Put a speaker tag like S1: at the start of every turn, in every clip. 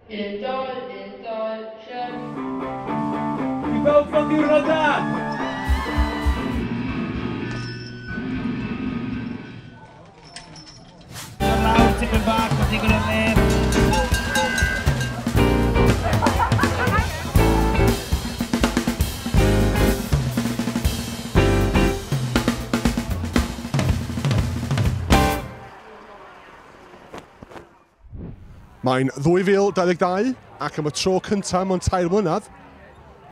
S1: 1, 2, 1, 2, 3.
S2: I bawb gael diwrnod da! Lawr tipyn bach, mae digon o le.
S3: Mae'n 2022 ac am y tro cyntaf mewn 3 mlynedd,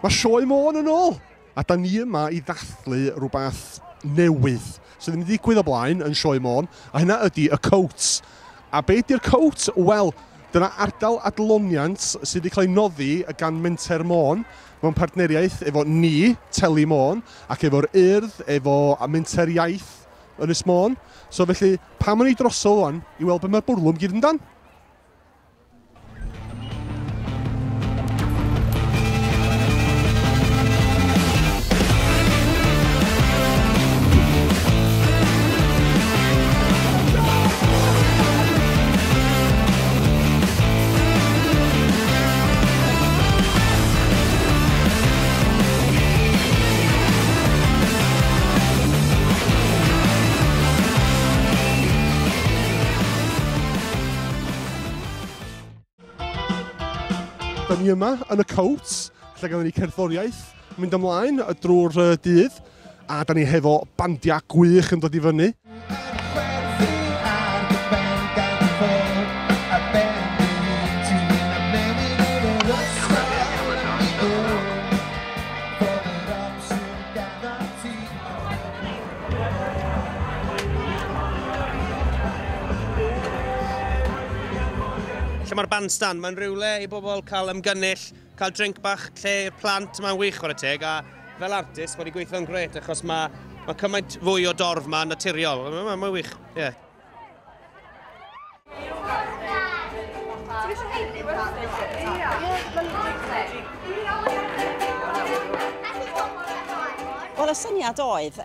S3: mae Sioe Môn yn ôl. A da ni yma i ddathlu rhywbeth newydd sydd ddim wedi digwydd o blaen yn Sioe Môn, a hynna ydy y Coat. A be ydy'r Coat? Wel, dyna ardal adloniant sydd wedi cael ei noddi gan Menter Môn mewn partneriaeth efo ni, Teli Môn, ac efo'r Urdd, efo Menter Iaith Ynys Môn. So felly, pam o'n i drosodd wan i weld be mae'r bwrlwm gyd amdan? Da ni yma yn y Coat, lle gafon ni cerddoriaeth mynd ymlaen drwy'r dydd, a da ni hefo bandiau gwych yn dod i fyny.
S4: Lle mae'r bandstand, mae'n rhywle i bobl cael ymgynnull, cael drink bach, lle i'r plant, mae'n wych chwarae teg, a fel artist mae wedi gweithio'n grêt achos mae cymaint fwy o dorf ma'n naturiol, mae'n wych, ie.
S5: Wel, y syniad oedd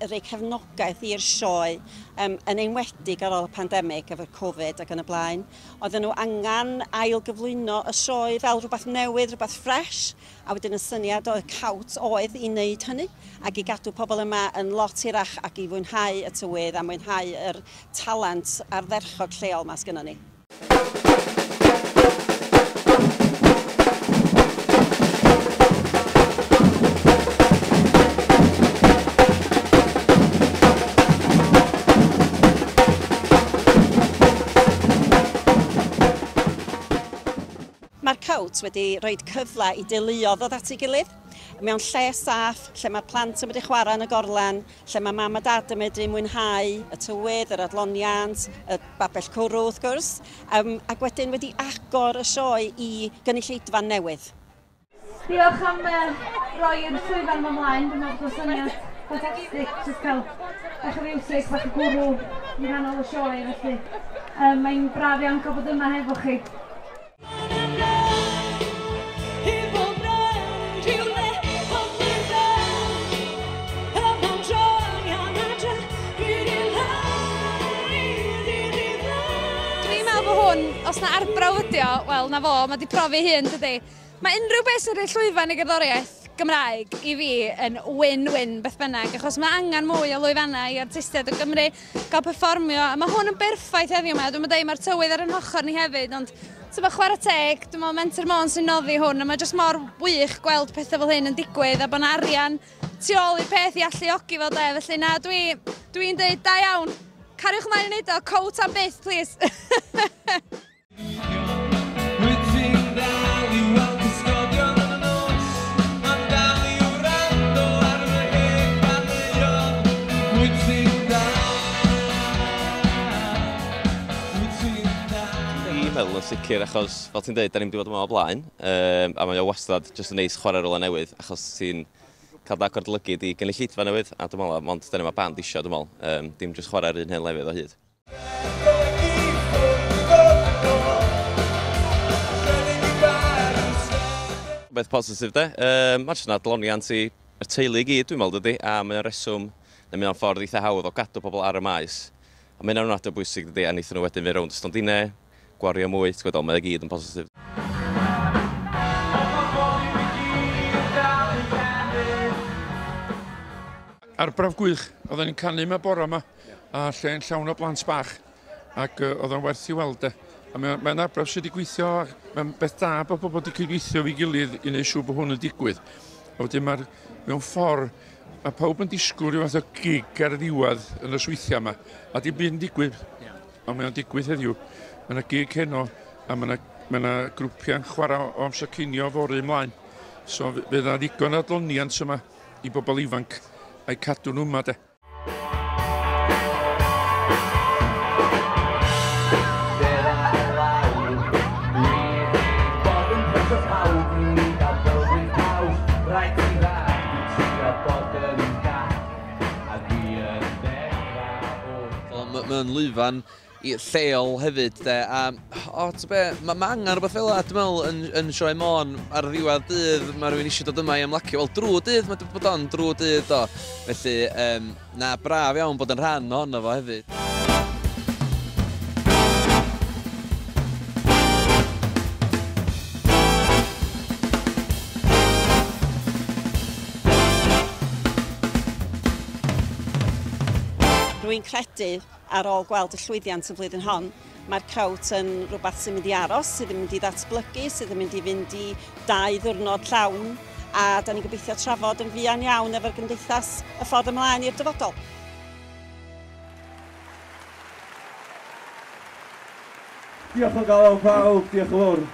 S5: rhoi cefnogaeth i'r sioe, yn enwedig ar ôl y pandemig efo'r Covid ac yn y blaen. Oedden nhw angen ailgyflwyno y sioe fel rhywbeth newydd, rhywbeth ffres, a wedyn y syniad oedd Cawt oedd i wneud hynny ac i gadw pobl yma yn lot hirach ac i fwynhau y tywydd a mwynhau yr talent ardderchog lleol 'ma sgynnon ni. Mae'r Cawt wedi rhoi cyfle i deuluoedd ddod at ei gilydd mewn lle saff, lle mae'r plant yn medru chwarae yn y gorlan, lle mae mam a dad yn medru mwynhau y tywydd, yr adloniant, y babell cwrw wrth gwrs, ac wedyn wedi agor y sioe i gynulleidfa newydd.
S6: Diolch am roi'r llwyfan yma ymlaen, dwi'n meddwl bod syniad ffantastig, jyst cael bach o fiwsig, bach o gwrw yng nghanol y sioe, felly mae'n braf iawn cael bod yma hefo chi.
S7: Dwi'n meddwl bod hwn, os na arbrawf ydi o, wel na fo, mae di profi hun dydi. Mae unrhyw beth sy'n rhoi llwyfan i gerddoriaeth Gymraeg i fi yn win-win beth bynnag, achos mae angen mwy o lwyfannau i artistiaid o Gymru gael perfformio, a mae hwn yn berffaith heddiw yma. Dwi'n meddwl mae'r tywydd ar yn hochr ni hefyd, ond ti'n chwarae teg, dwi'n meddwl Menter Môn sy'n noddi hwn, a mae jyst mor wych gweld pethau fel hyn yn digwydd, a bod 'na arian tu ôl i'r peth i alluogi fel de, felly na, dwi'n dweud da iawn. Cariwch ymlaen i wneud o, Cowt am byth, please.
S8: Dwi'n meddwl yn sicr, achos fel ti'n dweud, da ni'n wedi bod yma o blaen, a mae o wastad jyst yn neis chwarae rhywle newydd, achos ti'n cael dy agor dy lygid i gynulleidfa newydd, a dwi'n meddwl, mond dyna mae band isio, dwi'n meddwl, dim jyst chwarae'r un hen lefydd o hyd. Beth positif de, mae jyst yn adloniant i'r teulu i gyd, dwi'n meddwl, dydy, a mae o'n reswm, neu mae o'n ffordd eitha hawdd o gadw pobl ar y maes. A mae hynna'n ofnadwy o bwysig, dydy, a wnaethon nhw wedyn fynd rownd y stondinau, gwario mwy, ti'n gwybod, mae o gyd yn positif.
S9: Arbrawf gwych. Oedden ni'n canu yma bore yma, a lle'n llawn o blant bach, ac oedd o'n werth i weld e. A mae'n arbrawf sydd wedi gweithio, mae'n beth da bod pobl wedi cydweithio efo'i gilydd i wneud siŵr bod hwn yn digwydd. A wedyn mae'r, mewn ffordd, mae pawb yn disgwyl rhyw fath o gig ar y ddiwedd y nosweithiau yma, a dim byd yn digwydd. Ond mae o'n digwydd heddiw. Mae yna gig heno, a mae yna grwpiau'n chwarae o amser cinio fory ymlaen. So fydd yna ddigon o adloniant yma i bobl ifanc a'i cadw nhw yma de.
S10: Mae'n lwyfan lleol hefyd, de, a o, ti'n be, mae angen rhywbeth fel 'na, dwi'n meddwl, yn Sioe Môn ar ddiwedd dydd, mae rhywun eisiau dod yma i ymlacio, wel, drwy dydd, mae bod on drwy dydd, do. Felly, na, braf iawn bod yn rhan ohono fo hefyd.
S5: Rwy'n credu, ar ôl gweld y llwyddiant y flwyddyn hon, mae'r crowt yn rhywbeth sy'n mynd i aros, sydd yn mynd i ddatblygu, sydd yn mynd i fynd i 2 ddiwrnod llawn, a da ni'n gobeithio trafod yn fuan iawn efo'r gymdeithas y ffordd ymlaen i'r dyfodol.
S11: Diolch o galon pawb, diolch yn fawr.